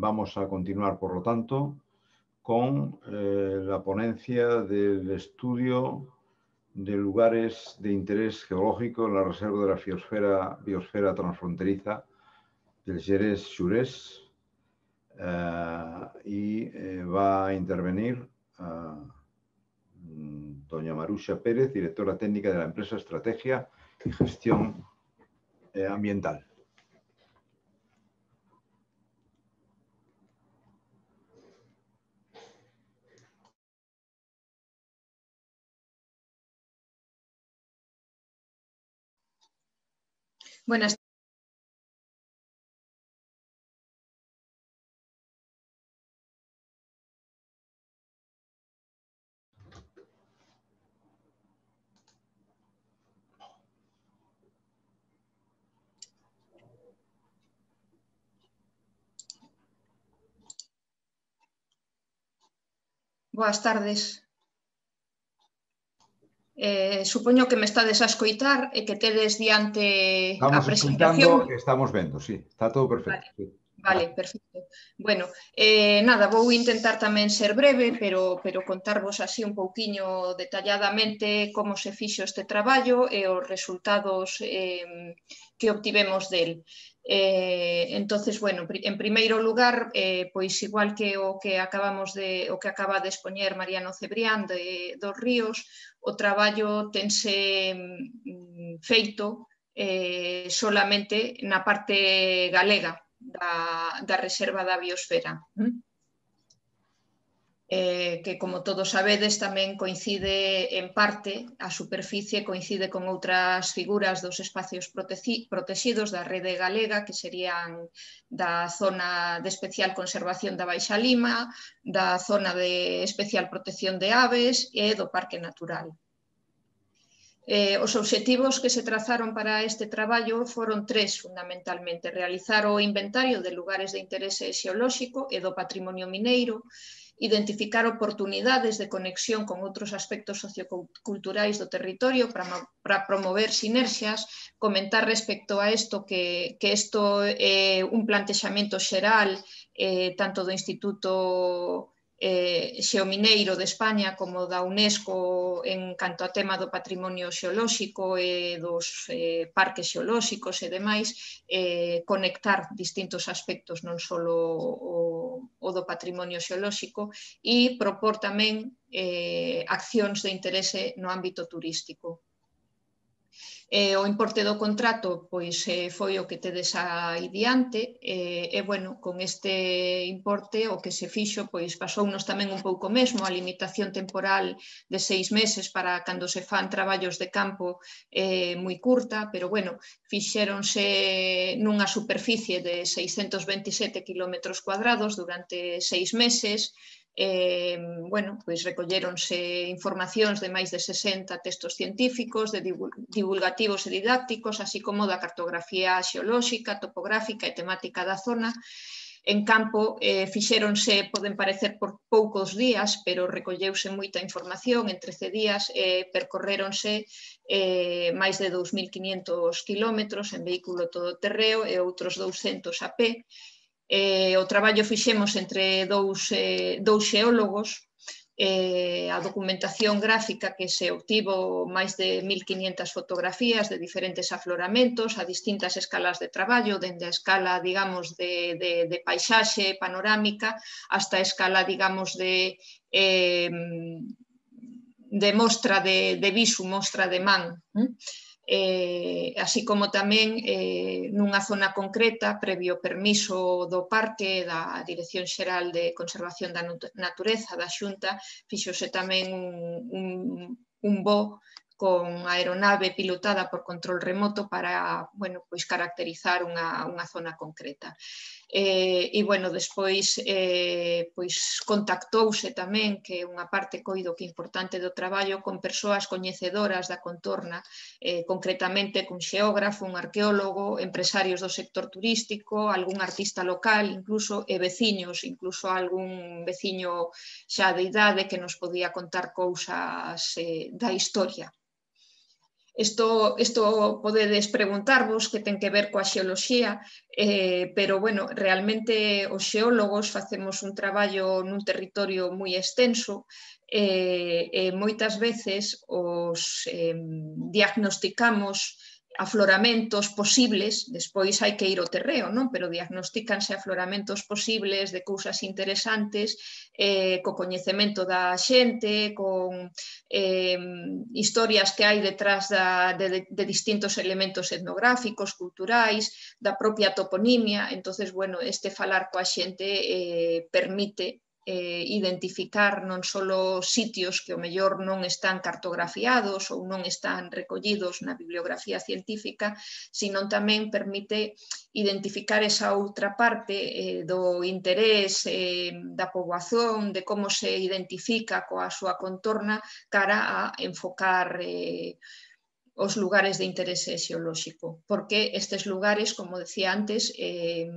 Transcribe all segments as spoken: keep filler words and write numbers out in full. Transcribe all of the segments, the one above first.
vamos a continuar, por lo tanto, con eh, la ponencia del estudio de lugares de interés geológico en la reserva de la biosfera, biosfera transfronteriza del Gerês-Xurés. Uh, y eh, va a intervenir uh, doña Maruxa Pérez, directora técnica de la empresa Estrategia y Gestión eh, Ambiental. Buenas Boas tardes. Eh, supoño que me estades a escoitar e que tedes diante estamos a presentación. Estamos estamos vendo, sí, está todo perfecto. Vale, sí. vale, perfecto. Bueno, eh, nada, vou intentar tamén ser breve, pero, pero contarvos así un pouquiño detalladamente como se fixo este traballo e os resultados eh, que obtivemos del. Eh, entonces, bueno, en primeiro lugar, eh, pois igual que o que acabamos de o que acaba de expoñer Mariano Cebrián de dos Ríos, o traballo tense mm, feito eh, solamente na parte galega da, da reserva da biosfera. Eh, que, como todos sabedes, tamén coincide en parte, a superficie coincide con outras figuras dos espacios protegidos da rede galega, que serían da zona de especial conservación da Baixa Lima, da zona de especial protección de aves e do Parque Natural. Eh, os obxectivos que se trazaron para este traballo foron tres, fundamentalmente: realizar o inventario de lugares de interese xeolóxico e do patrimonio mineiro, identificar oportunidades de conexión con outros aspectos socioculturais do territorio para, para promover sinerxias, comentar respecto a isto que, que isto é un plantexamento xeral eh, tanto do Instituto Eh, Xeomineiro de España como da UNESCO en canto a tema do patrimonio xeolóxico e dos eh, parques xeolóxicos e demais, eh, conectar distintos aspectos, non só o, o do patrimonio xeolóxico, e propor tamén eh, accións de interese no ámbito turístico. Eh, o importe do contrato pois, eh, foi o que tedes aí diante eh, e, bueno, con este importe o que se fixo pois, pasounos tamén un pouco mesmo a limitación temporal de seis meses para cando se fan traballos de campo eh, moi curta, pero, bueno, fixéronse nunha superficie de seiscentos veintisiete quilómetros cuadrados durante seis meses. Eh, bueno, pois recolléronse informacións de máis de sesenta textos científicos, de divulgativos e didácticos, así como da cartografía xeolóxica, topográfica e temática da zona. En campo eh, fixéronse, poden parecer por poucos días, pero recolleuse moita información en trece días e eh, percorréronse eh, máis de dous mil quiñentos quilómetros en vehículo todoterreo e outros douscentos a pé. Eh, o traballo fixemos entre dous, eh, dous xeólogos. Eh, a documentación gráfica que se obtivo máis de mil quiñentas fotografías de diferentes afloramentos a distintas escalas de traballo, dende a escala, digamos, de, de, de paisaxe panorámica hasta a escala, digamos, de, eh, de mostra de, de visu, mostra de man. ¿eh? Eh, así como tamén eh, nunha zona concreta, previo permiso do parque, da Dirección Xeral de Conservación da Natureza, da Xunta, fíxose tamén un, un, un voo con aeronave pilotada por control remoto para, bueno, pois caracterizar unha, unha zona concreta. Eh, e, bueno, despois eh, pois contactouse tamén, que é unha parte coido que importante do traballo, con persoas coñecedoras da contorna, eh, concretamente cun xeógrafo, un arqueólogo, empresarios do sector turístico, algún artista local, incluso, e veciños, incluso algún veciño xa de idade que nos podía contar cousas eh, da historia. Isto, isto podedes preguntarvos que ten que ver coa xeoloxía, eh, pero, bueno, realmente os xeólogos facemos un traballo nun territorio moi extenso e, e moitas veces os eh, diagnosticamos afloramentos posibles, despois hai que ir ao terreo, non? Pero diagnostícanse afloramentos posibles de cousas interesantes eh, co coñecemento da xente, con eh, historias que hai detrás da, de, de distintos elementos etnográficos, culturais, da propia toponimia. Entonces, bueno, este falar coa xente eh, permite eh, identificar non só sitios que o mellor non están cartografiados ou non están recollidos na bibliografía científica, sino tamén permite identificar esa outra parte eh, do interés eh, da poboación, de como se identifica coa súa contorna cara a enfocar eh, os lugares de interese xeolóxico, porque estes lugares, como decía antes, eh,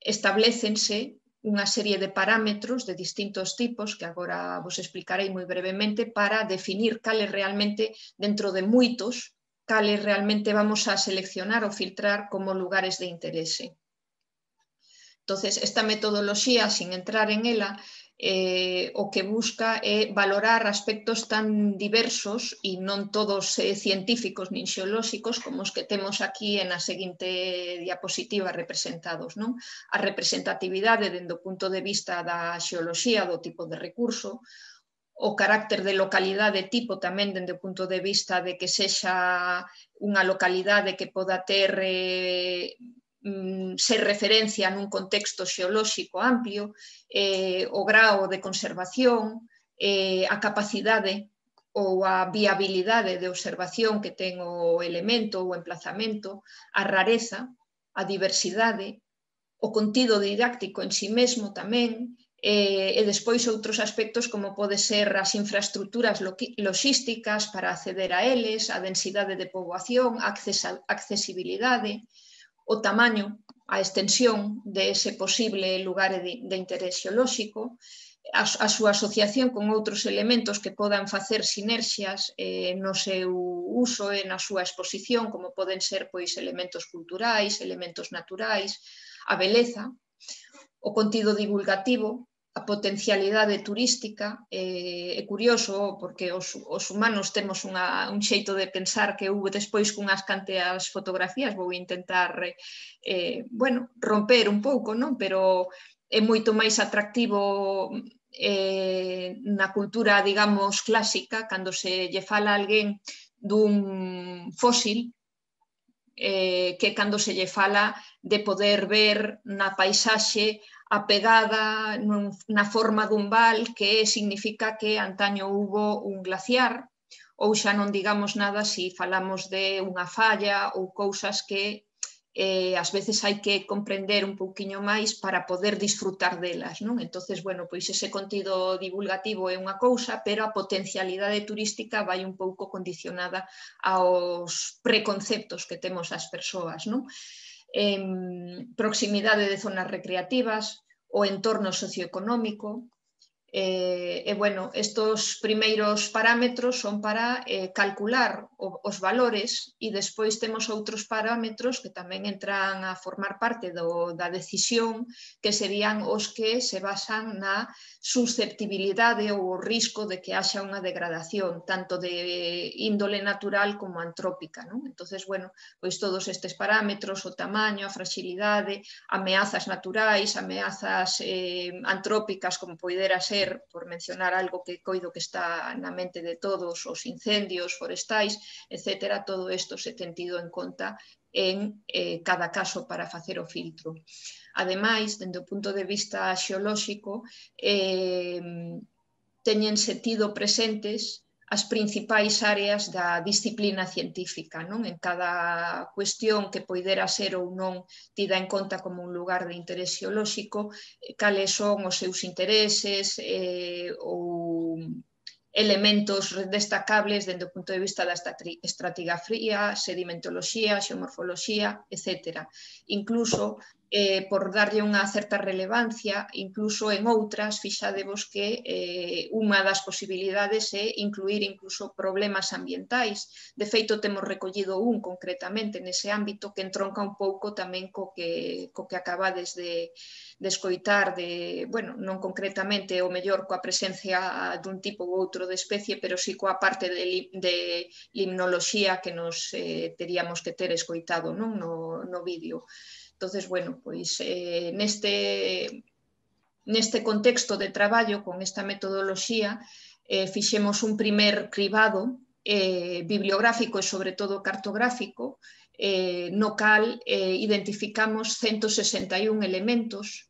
establecense unha serie de parámetros de distintos tipos que agora vos explicarei moi brevemente para definir cales realmente, dentro de moitos, cales realmente vamos a seleccionar ou filtrar como lugares de interese. Entonces, esta metodoloxía, sin entrar en ela, eh, o que busca é valorar aspectos tan diversos e non todos eh, científicos nin xeolóxicos como os que temos aquí na seguinte diapositiva representados, non? A representatividade dende o punto de vista da xeoloxía, do tipo de recurso, o carácter de localidade tipo tamén dende o punto de vista de que sexa unha localidade que poda ter eh, ser referencia nun contexto xeolóxico amplio, eh, o grao de conservación, eh, a capacidade ou a viabilidade de observación que ten o elemento ou o emplazamento, a rareza, a diversidade, o contido didáctico en si mesmo tamén, eh, e despois outros aspectos como pode ser as infraestructuras loxísticas para acceder a eles, a densidade de poboación, a accesibilidade, o tamaño, a extensión de ese posible lugar de, de interés xeolóxico, a, a súa asociación con outros elementos que podan facer sinerxias eh, no seu uso e na súa exposición, como poden ser pois, elementos culturais, elementos naturais, a beleza, o contido divulgativo, a potencialidade turística. É eh, curioso porque os, os humanos temos unha, un xeito de pensar que houve despois cunhas canteas fotografías, vou intentar eh, bueno, romper un pouco, non? Pero é moito máis atractivo eh, na cultura, digamos, clásica, cando se lle fala a alguén dun fósil, eh, que cando se lle fala de poder ver na paisaxe a pegada nun, na forma dun val, que significa que antaño hubo un glaciar, ou xa non digamos nada se si falamos de unha falla ou cousas que eh, ás veces hai que comprender un pouquiño máis para poder disfrutar delas, non? Entonces, bueno, pois ese contido divulgativo é unha cousa, pero a potencialidade turística vai un pouco condicionada aos preconceptos que temos as persoas, non? Eh, proximidade de zonas recreativas, o entorno socioeconómico. Eh, e, bueno, estos primeiros parámetros son para eh, calcular o, os valores e despois temos outros parámetros que tamén entran a formar parte do, da decisión, que serían os que se basan na susceptibilidade ou o risco de que haxa unha degradación, tanto de índole natural como antrópica, non? Entonces, bueno, pois todos estes parámetros, o tamaño, a fragilidade, ameazas naturais, ameazas eh, antrópicas, como poidera ser, por mencionar algo que coido que está na mente de todos, os incendios forestais, etcétera, todo isto se ten tido en conta en eh, cada caso para facer o filtro. Ademais, dende o punto de vista xeolóxico, eh, teñense tido presentes as principais áreas da disciplina científica, non? En cada cuestión que poidera ser ou non tida en conta como un lugar de interés xeolóxico, cales son os seus intereses eh, ou elementos destacables dende o punto de vista da estratigrafía, sedimentoloxía, xeomorfoloxía, etcétera. Incluso eh, por darlle unha certa relevancia, incluso en outras, fixadevos que eh, unha das posibilidades é incluir incluso problemas ambientais. De feito, temos recollido un concretamente nese ámbito que entronca un pouco tamén co que, co que acabades de, de escoitar, de, bueno, non concretamente o mellor coa presencia dun tipo ou outro de especie, pero sí coa parte de, de limnoloxía que nos eh, teríamos que ter escoitado, non? No, no vídeo. Entonces, bueno, pois eh, neste, neste contexto de traballo con esta metodoloxía eh, fixemos un primer cribado eh, bibliográfico e sobre todo cartográfico eh, no cal eh, identificamos ciento sesenta e un elementos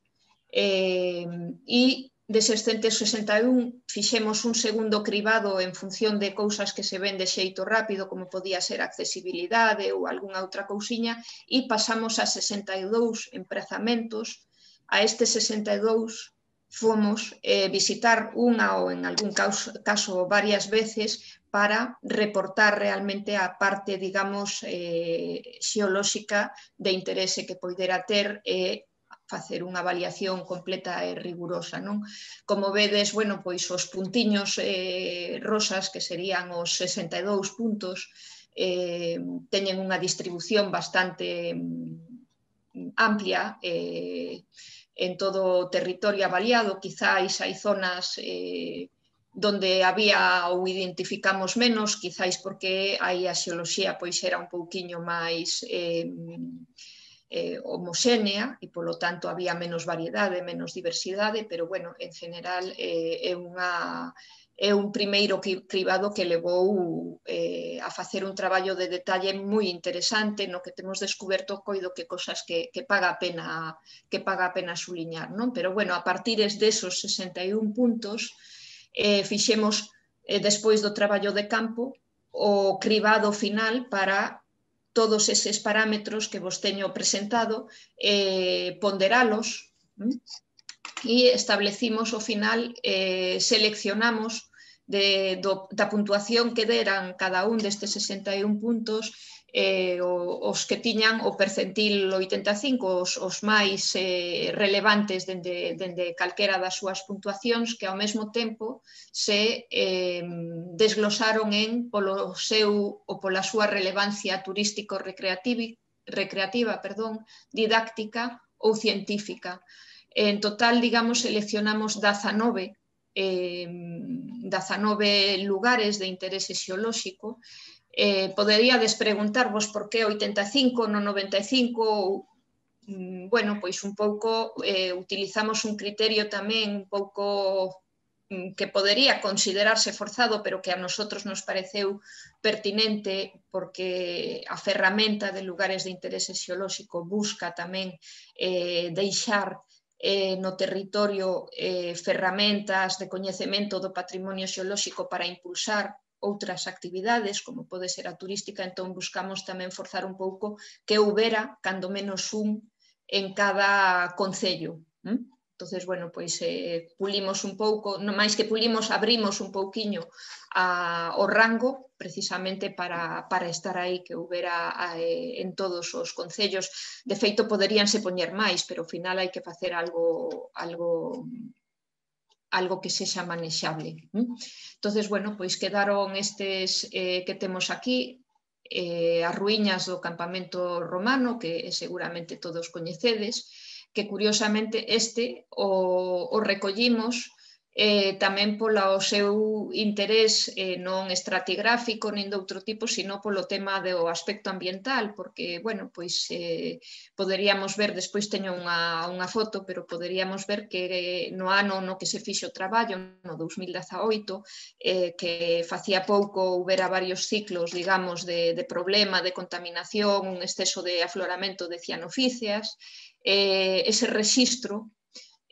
eh, e deses ciento sesenta e un fixemos un segundo cribado en función de cousas que se ven de xeito rápido, como podía ser accesibilidade ou algunha outra cousiña, e pasamos a sesenta e dous emprazamentos. A estes sesenta e dous fomos eh, visitar unha ou en algún caso, caso varias veces para reportar realmente a parte, digamos, eh, xeolóxica de interese que poidera ter e eh, facer unha avaliación completa e rigurosa, non? Como vedes, bueno, pois os puntiños eh, rosas, que serían os sesenta e dous puntos, eh, teñen unha distribución bastante mm, amplia eh, en todo o territorio avaliado. Quizáis hai zonas eh, donde había ou identificamos menos, quizáis porque aí a xeoloxía pois era un pouquiño máis eh, Eh, homoxénea e, polo tanto, había menos variedade, menos diversidade, pero, bueno, en general eh, é, unha, é un primeiro cribado que levou eh, a facer un traballo de detalle moi interesante no que temos descoberto, coido que cosas que, que paga a pena que paga a pena suliñar, non? Pero, bueno, a partir desos sesenta e un puntos eh, fixemos, eh, despois do traballo de campo, o cribado final para todos eses parámetros que vos teño presentado, eh, ponderalos e establecimos ao final, eh, seleccionamos de, do, da puntuación que deran cada un destes sesenta e un puntos, eh, os que tiñan o percentil oitenta e cinco, os, os máis eh, relevantes dende, dende calquera das súas puntuacións, que ao mesmo tempo se eh, desglosaron en polo seu ou pola súa relevancia turístico-recreativa, recreativa, perdón, didáctica ou científica. En total, digamos, seleccionamos dezanove, eh, dezanove lugares de interese xeolóxico. Eh, poderíades preguntarvos por que oitenta e cinco, non noventa e cinco, ou, bueno, pois un pouco eh, utilizamos un criterio tamén un pouco que podería considerarse forzado, pero que a nosotros nos pareceu pertinente porque a ferramenta de lugares de interese xeolóxico busca tamén eh, deixar eh, no territorio eh, ferramentas de coñecemento do patrimonio xeolóxico para impulsar outras actividades, como pode ser a turística. Entón buscamos tamén forzar un pouco que houbera, cando menos un, en cada concello. ¿Mm? Entonces, bueno, pois eh, pulimos un pouco, non máis que pulimos, abrimos un pouquiño a, o rango, precisamente para, para estar aí, que houbera eh, en todos os concellos. De feito, poderíanse poñer máis, pero ao final hai que facer algo... algo algo que sexa manexable. Entonces, bueno, pois quedaron estes eh, que temos aquí, eh, as ruíñas do campamento romano, que seguramente todos coñecedes, que curiosamente este o, o recollimos eh, tamén polo seu interés eh, non estratigráfico nin de outro tipo, sino polo tema do aspecto ambiental, porque, bueno, pois eh, poderíamos ver, despois teño unha, unha foto, pero poderíamos ver que eh, no ano no que se fixo o traballo, no dous mil dezaoito, eh, que facía pouco houbera varios ciclos, digamos, de, de problema, de contaminación, un exceso de afloramento de cianofíceas, eh, ese rexistro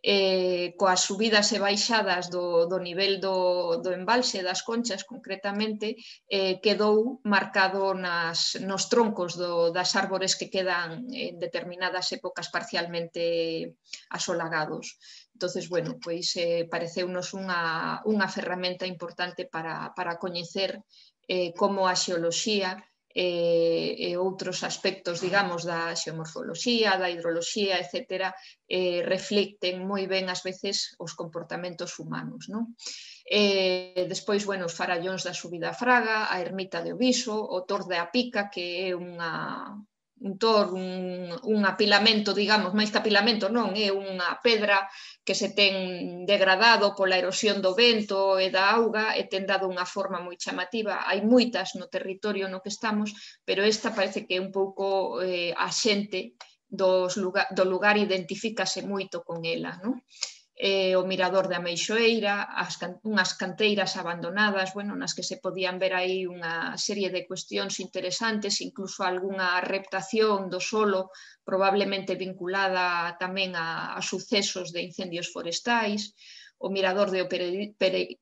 Eh, coas subidas e baixadas do, do nivel do, do embalse das Conchas, concretamente, eh, quedou marcado nas, nos troncos do, das árbores que quedan en determinadas épocas parcialmente asolagados. Entonces, bueno, pois eh, pareceunos unha, unha ferramenta importante para, para coñecer eh, como a xeoloxía e, e outros aspectos, digamos, da xeomorfoloxía, da hidroloxía, etcétera, eh, reflicten moi ben ás veces os comportamentos humanos, non? Eh, despois, bueno, os farallóns da subida a Fraga, a ermita de Oviso, o tor de Apica, que é unha, un tor, un, un apilamento, digamos, máis que apilamento non, é unha pedra que se ten degradado pola erosión do vento e da auga e ten dado unha forma moi chamativa. Hai moitas no territorio no que estamos, pero esta parece que é un pouco eh, a xente dos lugar, do lugar identifícase moito con ela, non? Eh, o mirador de Ameixoeira, as, unhas canteiras abandonadas, bueno, nas que se podían ver aí unha serie de cuestións interesantes, incluso algunha reptación do solo, probablemente vinculada tamén a, a sucesos de incendios forestais, o mirador de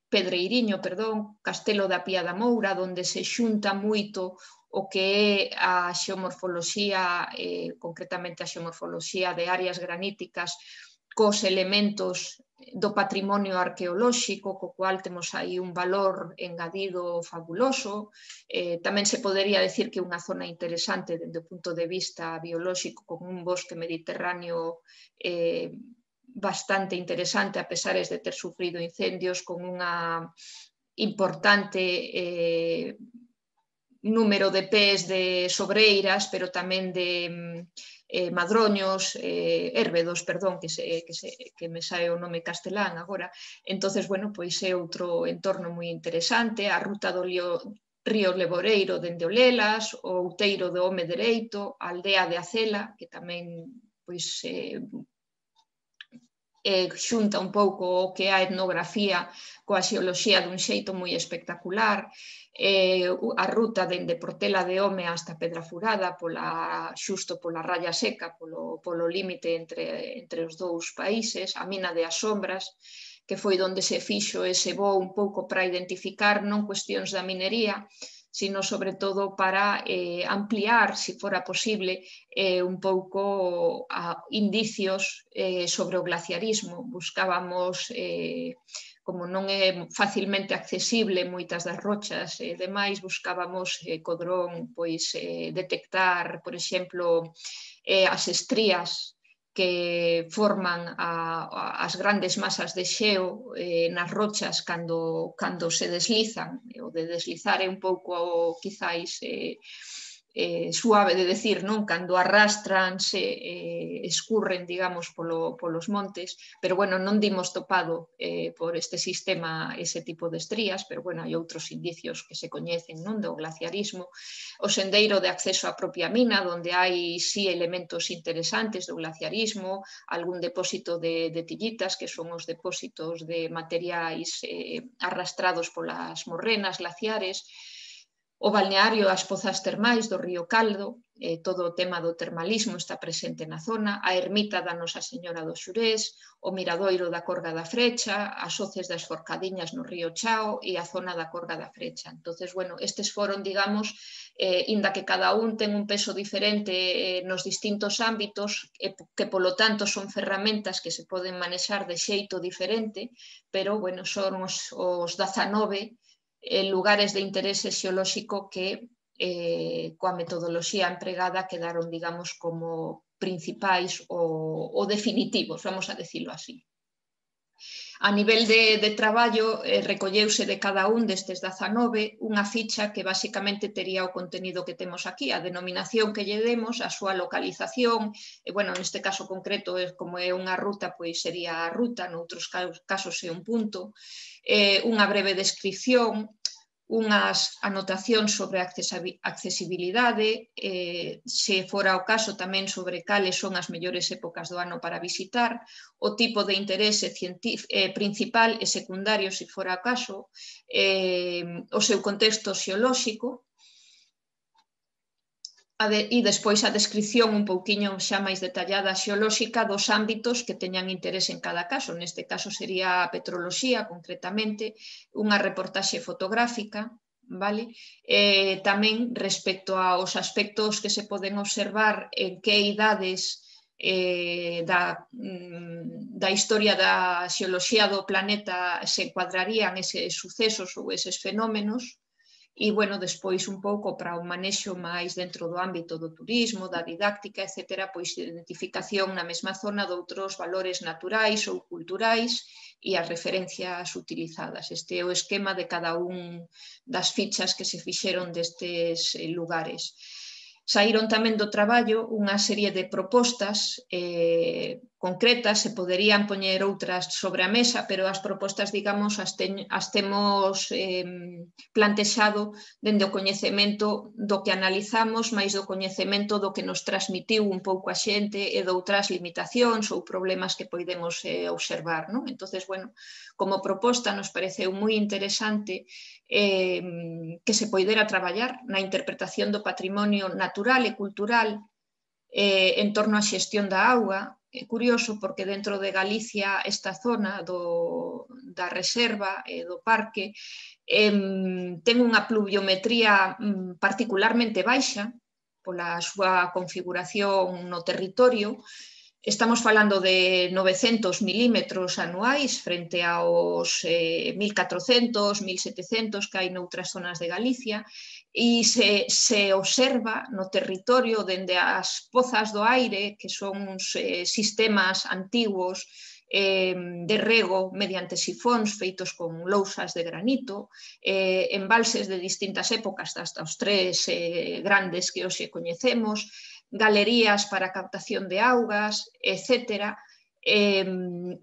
Pedreiriño, perdón, Castelo da Pía da Moura, onde se xunta moito o que é a xeomorfoloxía, eh, concretamente a xeomorfoloxía de áreas graníticas, cos elementos do patrimonio arqueolóxico, co cual temos aí un valor engadido fabuloso. Eh, tamén se podería decir que é unha zona interesante dende o punto de vista biolóxico, con un bosque mediterráneo eh, bastante interesante, a pesar de ter sufrido incendios, con unha importante eh, número de pés de sobreiras, pero tamén de eh, madroños, eh, érbedos, perdón, que, se, que, se, que me sae o nome castelán agora. Entonces, bueno, pois é outro entorno moi interesante, a ruta do Lío, Río Leboreiro dende Olelas, o outeiro do Home Dereito, a aldea de Acela, que tamén pois eh, eh, xunta un pouco o que é a etnografía coa xeoloxía dun xeito moi espectacular, eh, a ruta dende Portela de Home hasta Pedra Furada, pola, xusto pola raya seca, polo, polo límite entre, entre os dous países, a mina de As Sombras, que foi onde se fixo ese voo un pouco para identificar non cuestións da minería, sino sobre todo para eh, ampliar, se fora posible, eh, un pouco a indicios eh, sobre o glaciarismo. Buscábamos, eh, como non é facilmente accesible moitas das rochas e demais, buscábamos eh, co dron pois, eh, detectar, por exemplo, eh, as estrías que forman a, a, as grandes masas de xeo eh, nas rochas cando, cando se deslizan. O de deslizar é un pouco, quizáis, eh, eh, suave de decir, non? Cando arrastranse, eh, escurren, digamos, polo, polos montes, pero, bueno, non dimos topado eh, por este sistema ese tipo de estrías, pero, bueno, hai outros indicios que se coñecen, non? Do glaciarismo. O sendeiro de acceso á propia mina, onde hai, sí, elementos interesantes do glaciarismo, algún depósito de, de tillitas, que son os depósitos de materiais eh, arrastrados polas morrenas glaciares, o balneario, as pozas termais do Río Caldo, eh, todo o tema do termalismo está presente na zona, a ermita da Nosa Señora dos Xurés, o miradoiro da Corga da Frecha, as hoces das Forcadiñas no Río Chao e a zona da Corga da Frecha. Entonces, bueno, estes foron, digamos, eh, inda que cada un ten un peso diferente eh, nos distintos ámbitos, eh, que polo tanto son ferramentas que se poden manexar de xeito diferente, pero, bueno, son os, os dezanove lugares de interese xeolóxico que eh, coa metodoloxía empregada quedaron, digamos, como principais ou, ou definitivos, vamos a decirlo así. A nivel de, de traballo, eh, recolleuse de cada un destes dezanove unha ficha que basicamente tería o contenido que temos aquí, a denominación que lle demos, a súa localización, e, bueno, neste caso concreto, como é unha ruta, pois sería a ruta, noutros casos é un punto, eh, unha breve descripción, unhas anotacións sobre a accesibilidade, eh, se fora o caso tamén sobre cales son as mellores épocas do ano para visitar, o tipo de interese eh, principal e secundario, se fora o caso, eh, o seu contexto xeolóxico, e despois a descripción un pouquiño xa máis detallada xeolóxica dos ámbitos que teñan interese en cada caso. Neste caso sería a petroloxía, concretamente, unha reportaxe fotográfica, vale? Eh, tamén respecto aos aspectos que se poden observar en que idades eh, da, da historia da xeoloxía do planeta se encuadrarían eses sucesos ou eses fenómenos, e, bueno, despois un pouco para o manexo máis dentro do ámbito do turismo, da didáctica, etcétera, pois identificación na mesma zona de outros valores naturais ou culturais e as referencias utilizadas. Este é o esquema de cada un das fichas que se fixeron destes lugares. Saíron tamén do traballo unha serie de propostas eh, concretas, se poderían poñer outras sobre a mesa, pero as propostas, digamos, as, ten, as temos eh, plantexado dende o coñecemento do que analizamos, máis do coñecemento do que nos transmitiu un pouco a xente e de outras limitacións ou problemas que podemos eh, observar, non? Entonces, bueno, como proposta nos pareceu moi interesante eh, que se poidera traballar na interpretación do patrimonio natural e cultural eh, en torno á xestión da auga. É curioso porque dentro de Galicia esta zona do, da reserva e eh, do parque eh, ten unha pluviometría mm, particularmente baixa pola súa configuración no territorio. Estamos falando de novecentos milímetros anuais frente aos eh, mil catrocentos, mil setecentos que hai noutras zonas de Galicia e se, se observa no territorio dende as pozas do aire, que son uns eh, sistemas antigos eh, de rego mediante sifóns feitos con lousas de granito, eh, embalses de distintas épocas, hasta os tres eh, grandes que hoxe coñecemos, galerías para captación de augas, etcétera. Eh,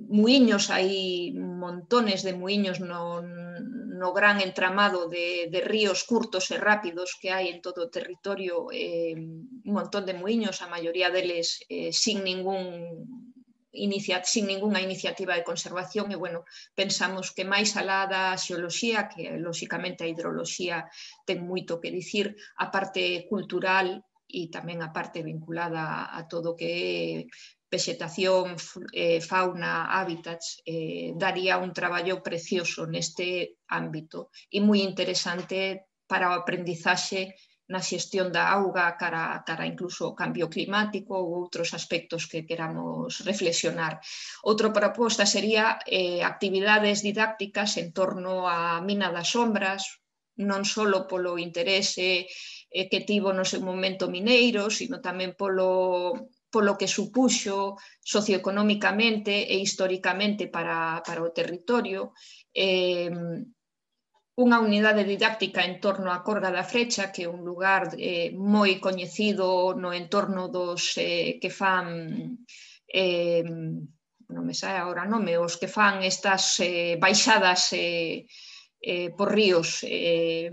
muiños, hai montones de muiños no, no gran entramado de, de ríos curtos e rápidos que hai en todo o territorio, eh, un montón de muiños, a maioría deles eh, sin ningún Inicia, sin ninguna iniciativa de conservación e, bueno, pensamos que máis alá da xeoloxía, que lóxicamente a hidroloxía ten moito que dicir, a parte cultural e tamén a parte vinculada a todo o que é vegetación, eh, fauna, hábitats, eh, daría un traballo precioso neste ámbito e moi interesante para o aprendizaxe na xestión da auga cara, cara incluso ao cambio climático ou outros aspectos que queramos reflexionar. Outra proposta sería eh, actividades didácticas en torno á mina das sombras, non só polo interese eh, que tivo no seu momento mineiro, sino tamén polo, polo que supuxo socioeconómicamente e históricamente para, para o territorio. Eh, unha unidade didáctica en torno á Corga da Frecha, que é un lugar eh, moi coñecido no entorno dos eh, que fan, eh, non me sae agora o nome, os que fan estas eh, baixadas eh, eh, por ríos. Eh,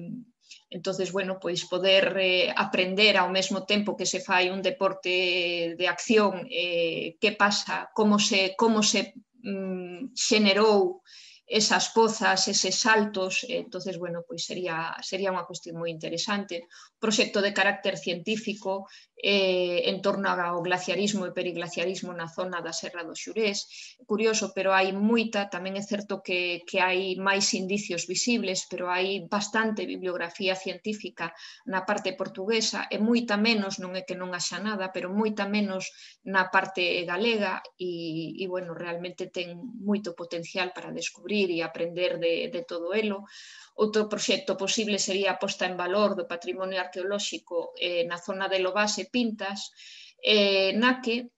entonces, bueno, pois poder eh, aprender ao mesmo tempo que se fai un deporte de acción, eh, que pasa, como se, como se mm, xenerou esas pozas, eses saltos, entonces, bueno, pois sería, sería unha cuestión moi interesante. Proxecto de carácter científico eh, en torno ao glaciarismo e periglaciarismo na zona da Serra do Xurés. Curioso, pero hai moita, tamén é certo que, que hai máis indicios visibles, pero hai bastante bibliografía científica na parte portuguesa e moita menos, non é que non haxa nada, pero moita menos na parte galega e, e bueno, realmente ten moito potencial para descubrir e aprender de, de todo elo. Outro proxecto posible sería a posta en valor do patrimonio arqueolóxico eh, na zona de Lobás e Pintas, eh, na que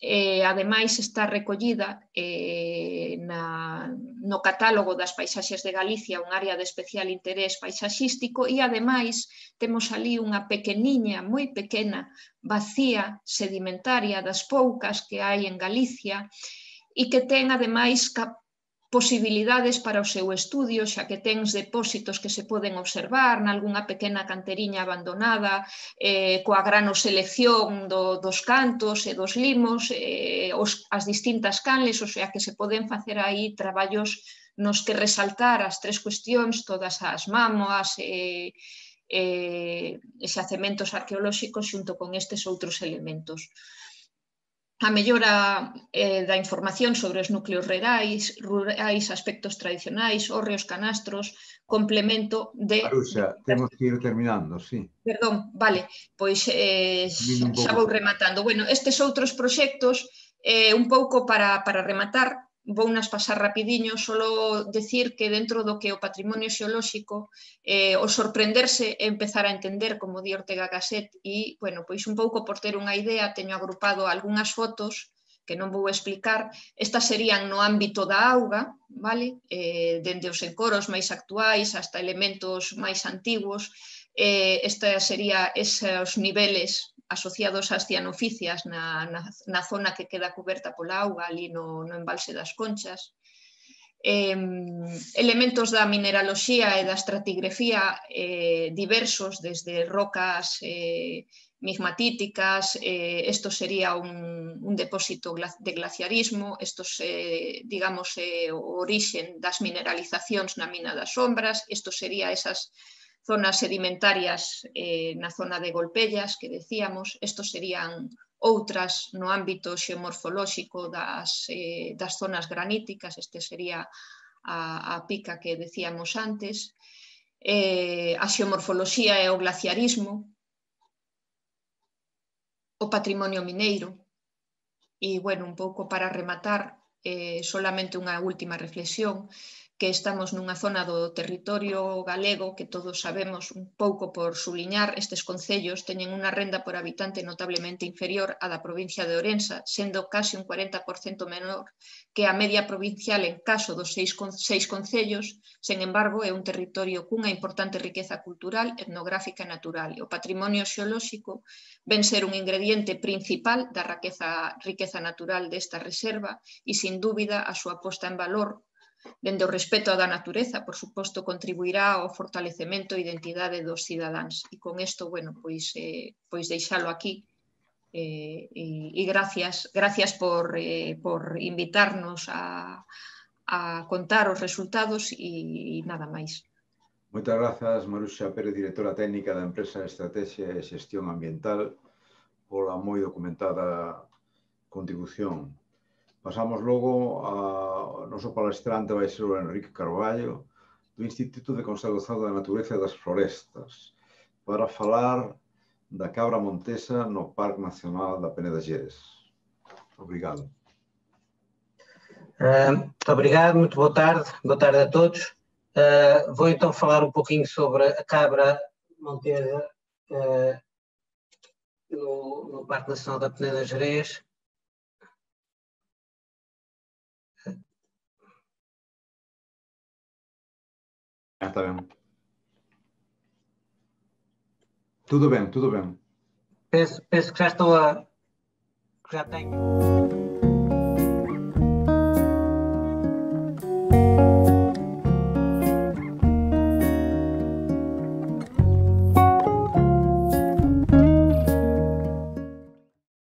eh, ademais está recollida eh, na, no catálogo das paisaxes de Galicia un área de especial interés paisaxístico e ademais temos ali unha pequeniña, moi pequena, vacía sedimentaria das poucas que hai en Galicia e que ten ademais posibilidades para o seu estudio, xa que tens depósitos que se poden observar nalgúna pequena canteriña abandonada, eh, coa granoselección do, dos cantos e dos limos, eh, os, as distintas canles, o sea que se poden facer aí traballos nos que resaltar as tres cuestións, todas as mámoas e, e, e xacementos arqueolóxicos xunto con estes outros elementos. A mellora eh, da información sobre os núcleos rurais, rurais, aspectos tradicionais, hórreos, canastros, complemento de... Maruxa, temos que ir terminando, sí. Perdón, vale, pois eh, xa vou rematando. Bueno, estes outros proxectos, eh, un pouco para, para rematar, vou nas pasar rapidiño, solo decir que dentro do que o patrimonio xeolóxico, eh, o sorprenderse é empezar a entender, como di Ortega Gasset, e, bueno, pois un pouco por ter unha idea, teño agrupado algunhas fotos que non vou explicar. Estas serían no ámbito da auga, vale? Eh, dende os encoros máis actuais hasta elementos máis antiguos. Eh, esta sería esos niveles asociados ás cianoficias na, na, na zona que queda coberta pola auga, ali no, no embalse das Conchas. Eh, elementos da mineraloxía e da estratigrafía eh, diversos, desde rocas eh, migmatíticas, eh, esto sería un, un depósito de glaciarismo, estos, eh, digamos, eh, o orixen das mineralizacións na mina das Sombras, isto sería esas zonas sedimentarias eh, na zona de Golpellas, que decíamos, estos serían outras no ámbito xeomorfolóxico das, eh, das zonas graníticas, este sería a, a pica que decíamos antes, eh, a xeomorfoloxía e o glaciarismo, o patrimonio mineiro, e, bueno, un pouco para rematar, eh, solamente unha última reflexión, que estamos nunha zona do territorio galego que todos sabemos, un pouco por suliñar, estes concellos teñen unha renda por habitante notablemente inferior á da provincia de Ourense, sendo case un cuarenta por cento menor que a media provincial en caso dos seis, seis concellos. Sen embargo, é un territorio cunha importante riqueza cultural, etnográfica e natural. E o patrimonio xeolóxico ven ser un ingrediente principal da riqueza, riqueza natural desta reserva e, sin dúbida, a súa posta en valor dende o respeto da natureza, por suposto, contribuirá ao fortalecemento e identidade dos cidadáns. E con isto, bueno, pois, eh, pois deixalo aquí. Eh, e, e gracias, gracias por, eh, por invitarnos a, a contar os resultados e, e nada máis. Moitas grazas, Maruxa Pérez, directora técnica da empresa Estrategia e Xestión Ambiental, pola moi documentada contribución. Pasamos logo ao noso palestrante, vai ser o Enrique Carballo, do Instituto de Conservación da Natureza e das Florestas, para falar da cabra montesa no Parque Nacional da Peneda Xeres. Obrigado. Uh, obrigado, muito boa tarde, boa tarde a todos. Uh, vou então falar um pouquinho sobre a cabra montesa uh, no, no Parque Nacional da Peneda Xeres. Ah, está bem. Tudo bem, tudo bem. Penso, penso que já estou a... já tenho...